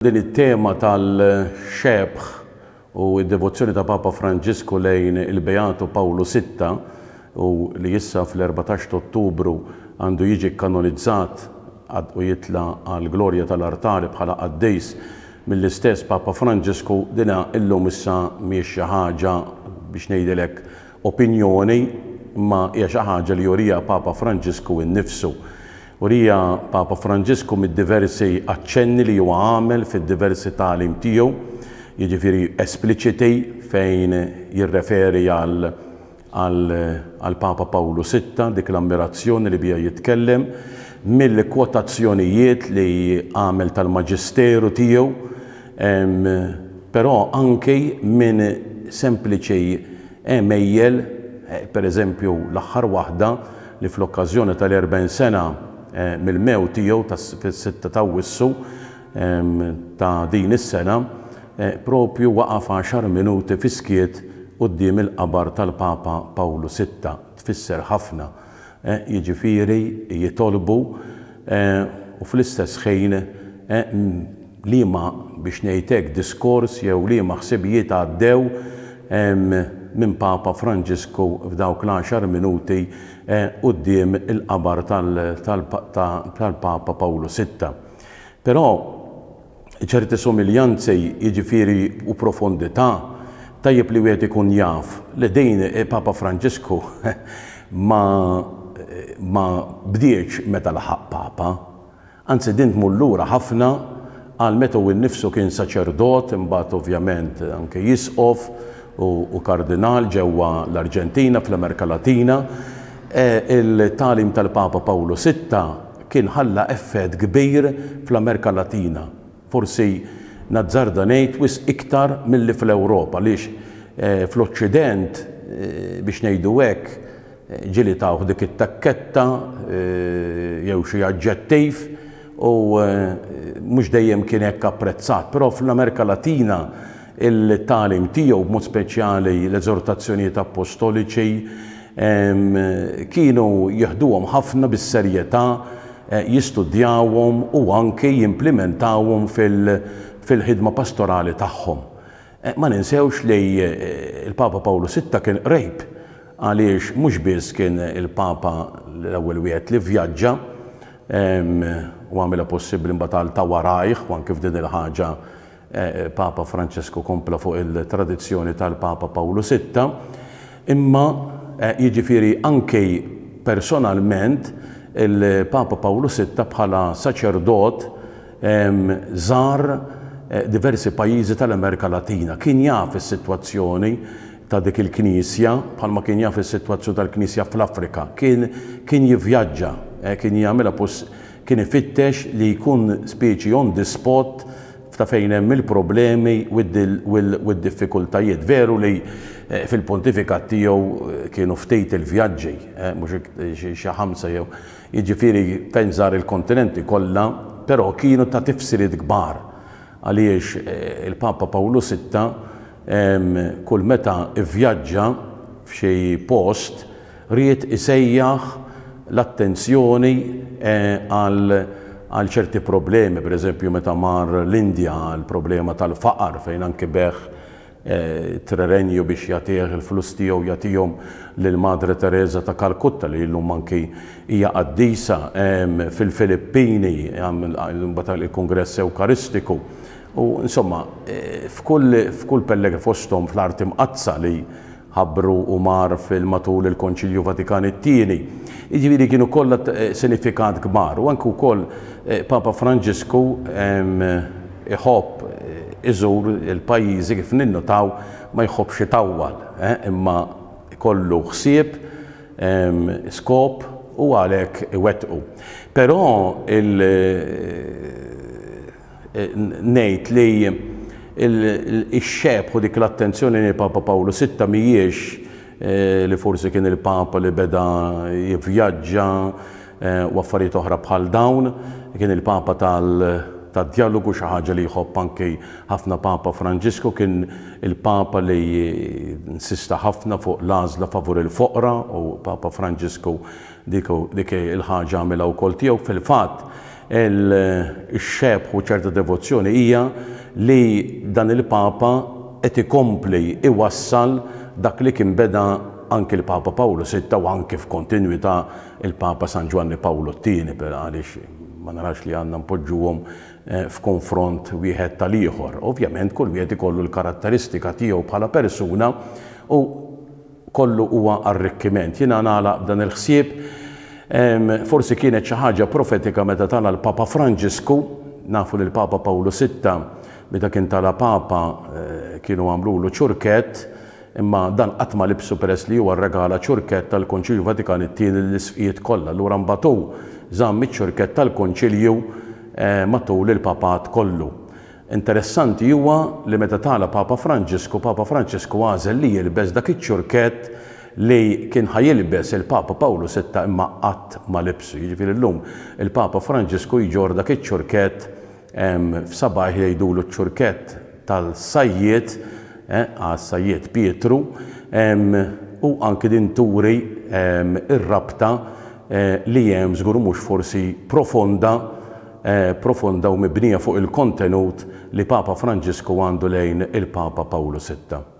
Din it-tema tal-xebh u d-devozzjoni ta' Papa Franġisku lejn il-Beatu Pawlu Sitta u li issa fl-14 t'Ottubru għandu jiġi kkanonizzat u jitla' għall-glorja tal-artali bħala qaddis mill-istess Papa Franġisku, dina illum issa mhijiex xi ħaġa biex ngħidilek opinjoni imma hija xi ħaġa li juriha Papa Franġisku innifsu. Urija Papa Franġisku mid-diversi aċċenni li huwa għamel fid-diversi tagħlim tiegħu, jiġifieri espliċiti fejn jirreferi għal għall-Papa Pawlu Sitta, dik l-ammirazzjoni li biha jitkellem, mill-kwotazzjonijiet li għamel tal-maġisteru tiegħu, però anki minn sempliċi għemejjel, per eżempju l-aħħar waħda li fl-okkażjoni tal-40 sena mill-mewt tiegħu fis-sitta t'Awwissu ta' din is-sena, propju waqaf għaxar minuti fis-skiet quddiem il-qabar tal-Papa Pawlu Sitta. Tfisser ħafna. Jiġifieri jitolbu u fl-istess ħin liema, biex ngħid hekk, diskors jew liema ħsibijiet għaddew minn Papa Franġisku f'dawk l-għaxar minuti quddiem il-qabar tal-Papa Pawlu Sitta. Però ċerti somiljanzi, jiġifieri u profondità, tajjeb li wieħed ikun jaf li din Papa Franġisku ma ma bdietx meta laħaq Papa. Anzi din tmur lura ħafna għal meta hu nnifsu kien saċerdot, imbagħad ovvjament anke isqof u kardinal ġewwa l-Arġentina, fl-Amerika Latina. Il-tagħlim tal-Papa Pawlu Sitta kien ħalla effett kbir fl-Amerika Latina, forsi nazzarda ngħid wisq iktar milli fl-Ewropa għaliex fl-Oċċident, biex ngħidu hekk, ġieli tawh dik it-takketta jew xi aġġettiv u mhux dejjem kien hekk apprezzat. Però fl-Amerika Latina il-tagħlim tiegħu, b'mod speċjali l-eżortazzjonijiet appostoliċi, kienu jeħduhom ħafna bis-serjetà, jistudjawhom u anki jimplimentawhom fil-ħidma pastorali tagħhom. Ma ninsewx li l-Papa Pawlu Sitta kien qrib għaliex mhux biss kien il-Papa l-ewwel wieħed li vvjaġġa u għamilha possibbli mbagħad għal ta' warajh u anki f'din il-ħaġa Papa Francesku kompla fuq il-tradizzjoni tal-Papa Pawlu Sitta, imma jiġifieri anki personalment il-Papa Pawlu Sitta bħala saċerdot żar diversi pajjiżi tal-Amerika Latina. Kien jaf is-sitwazzjoni ta' dik il-Knisja bħalma kien jaf is-sitwazzjoni tal-Knisja fl-Afrika. Kien kien jivvjaġġa, kien jagħmilha kien ifittex li jkun speċi on the spot ta' fejn hemm il-problemi u d-diffikultajiet. Veru li fil-pontifikat tiegħu kienu ftit il-vjaġġi, mhux xi ħamsa jew jiġifieri fejn żar il-kontinenti kollha, però kienu ta' tifsiriet kbar għaliex il-Papa Pawlu Sitta kull meta vvjaġġa f'xi post ried isejjaħ l-attenzjoni għal għal ċerti problemi, per eżempju meta mar l-Indja għall-problema tal-faqar fejn anki begħ trerenju biex jagħtih il-flus tiegħu jagħtihom lil Madre Teresa ta' Kalkutta li llum anki hija qaddisa, fil-Filippini imbagħad il-Kungress Ewkaristiku u insomma f'kull f'kull pelleg fosthom fl-Art Imqaddsa li ħabbru u mar fil matul il-Konċilju Vatikan it-Tieni. Jiġifieri kienu kollha sinifikat kbar u anke wkoll Papa Franġisku iħobb iżur il-pajjiżi kif ninnutaw ma jħobbx itawwal imma jkollu ħsieb, skop u għalhekk iwettqu. Però il Ngħid li x-xebh u dik l-attenzjoni lejn Papa Pawlu Sitta mhijiex li forsi kien il-Papa li beda jivvjaġġa u affarijiet oħra bħal dawn. Kien il-Papa tad-djalogu, xi ħaġa li jħobb anki ħafna Papa Franġisku. Kien il-Papa li insista ħafna fuq l-għażla favur il-foqra u Papa Franġisku dik il-ħaġa għamilha wkoll tiegħu. Fil-fatt, Ix-xebh u ċerta devozzjoni hija li dan il-Papa qed ikompli iwassal dak li kien beda anki l-Papa Pawlu Sitta u anki f'kontinwità il-Papa San Ġwanni Pawlu t-Tieni, għaliex ma narax li għandna npoġġuhom f'konfront wieħed tal-ieħor. Ovvjament kull wieħed ikollu l-karatteristika tiegħu bħala persuna u kollu huwa arrikkiment. Jiena nagħlaq b'dan il-ħsieb, forsi kienet xi ħaġa profetika meta tala' l-Papa Franġisku, nafu li l-Papa Pawlu Sitta meta kien tala' Papa kienu għamlulu ċurkett, imma dan qatt ma libsu peress li huwa rregala ċurkett tal-Konċilju Vatikan it-Tieni lill-Isqfijiet kollha. Allura mbagħad hu żamm iċ-ċurkett tal-Konċilju matul il-Papat kollu. Interessanti huwa li meta tala' Papa Franġisku, Papa Franġisku għażel li jilbes dak iċ-ċurkett li kien ħa jilbes il-Papa Pawlu Sitta imma qatt ma libsu. Jiġifieri llum il-Papa Franġisku jġorr dak iċ-ċurkett f'sabajh jgħidulu ċ-ċurkett tal-sajjied, għas-sajjied Pietru, u anki din turi r-rabta li hemm żgur mhux forsi profonda profonda u mibnija fuq il-kontenut li Papa Franġisku għandu lejn il-Papa Pawlu Sitta.